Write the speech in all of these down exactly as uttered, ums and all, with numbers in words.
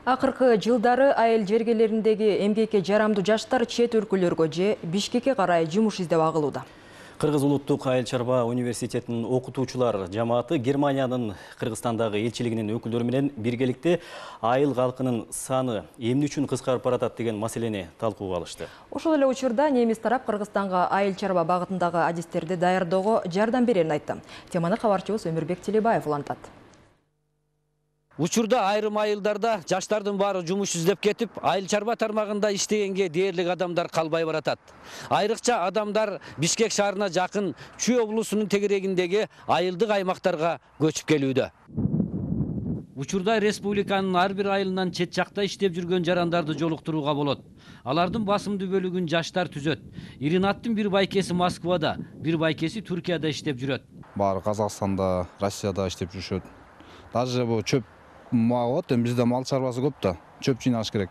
Акыркы жылдары айыл жергелериндеги эмгекке жарамдуу жаштар чет өлкөлөргө же Бишкекке карай жумуш издеп агылууда. Кыргыз улуттук айыл чарба университетинин окутуучулар жамааты Германиянын Кыргызстандагы элчилигинин өкүлдөрү менен биргеликте айыл калкынын саны эмне үчүн кыскарып баратат деген маселени талкууга алышты. Ошол эле учурда немис тарап Кыргызстанга айыл чарба багытындагы адистерди даярдоого жардам берерин айтты. Теманы кабарчыбыз Өмүрбек Телебаев улантат. Учурда айрым айылдарда жаштардын баары жумуш издеп кетип, айыл чарба тармагында иштегенге дээрлик адамдар калбай баратат. Айрыкча адамдар Бишкек шаарына жакын Чүй облусунун тегерегиндеги айылдык аймактарга көчүп келүүдө. Учурда республиканын ар бир айылынан чет жакта иштеп жүргөн жарандарды жолуктурууга болот. Алардын басымдуу бөлүгүн жаштар түзөт. Иринаттын бир байкеси Москвада, бир байкеси Түркияда иштеп жүрөт. Баары Казакстанда, Россияда иштеп жүрүшөт. Даже бу чөп мага бизде мал чарбасы көп да, чөп жыйнаш керек.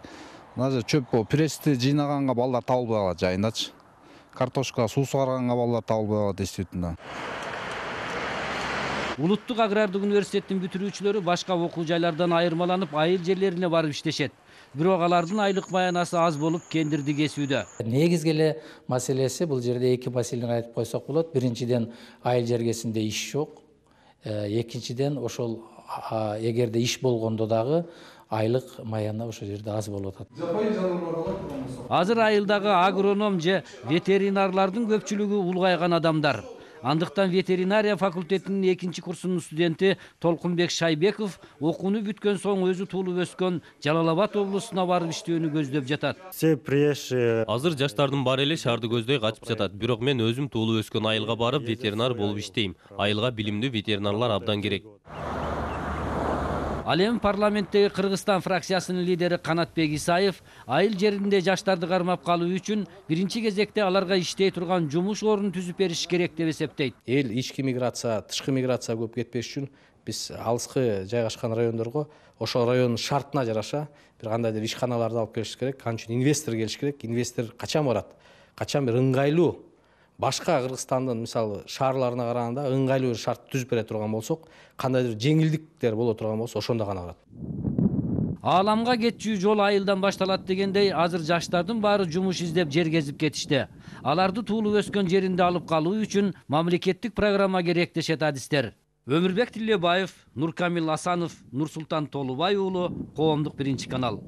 Даже чөп прести жыйнаганга балдар табылбай калат жайындачы. Картошка, суу сугарганга балдар табылбай калат действительно. Улуттук агрардык университеттин бүтүрүүчүлөрү башка окуу жайлардан айырмаланып айыл жерлерине барып иштешет. Бирок алардын айлык маянасы аз болуп кендирди кесүүдө. Негизги эле маселеси бул жерде эки маселени айтып койсок болот. Биринчиден айыл жергесинде иш жок. Экинчиден ошол эгерде иш болгондо дагы айлык маяна ошол жерде аз болуп атат. Азыр айылдагы агроном же ветеринарлардын көпчүлүгү улгайган адамдар. Андыктан ветеринария факультетинин экинчи курсунун студенти Толкунбек Шайбеков окууну бүткөн соң өзү туулуп өскөн Жалал Абад облусуна барып иштөөнү көздөп жатат. Азыр жаштардын баары эле шаарды көздөй качып жатат. Бирок мен өзүм туулуп өскөн айылга барып ветеринар болуп иштейм. Айылга билимдүү ветеринарлар абдан керек. Ал эми парламенттеги Кыргызстан фракциясынын лидери Канатбек Исаев айыл жеринде жаштарды кармап калуу үчүн биринчи кезекте аларга иштей турган жумуш орнун түзүп бериш керек деп эсептейт. Эл ички миграция, тышкы миграция көп кетпеш үчүн биз алыскы жайгашкан райондорго ошол райондун шартына жараша бир кандайдыр ишканаларды алып келиш керек. Ал үчүн инвестор келиш керек. Инвестор качан барат? Качан бир ыңгайлуу башка Кыргызстандын мисалы шаарларына караганда ыңгайлуу бир шарт түзүп бере турган болсок, кандайдыр жеңилдиктер боло турган болсо, ошондо гана барат. Ааламга кетчү жол айылдан башталат дегендей, азыр жаштардын баары жумуш издеп жер кезип кетишти. Аларды туулуп өскөн жеринде алып калуу үчүн мамлекеттик программа керек дешет адистер. Өмүрбек Тилебаев, Нуркамил Асанов, Нурсултан Толубай уулу, Коомдук биринчи канал.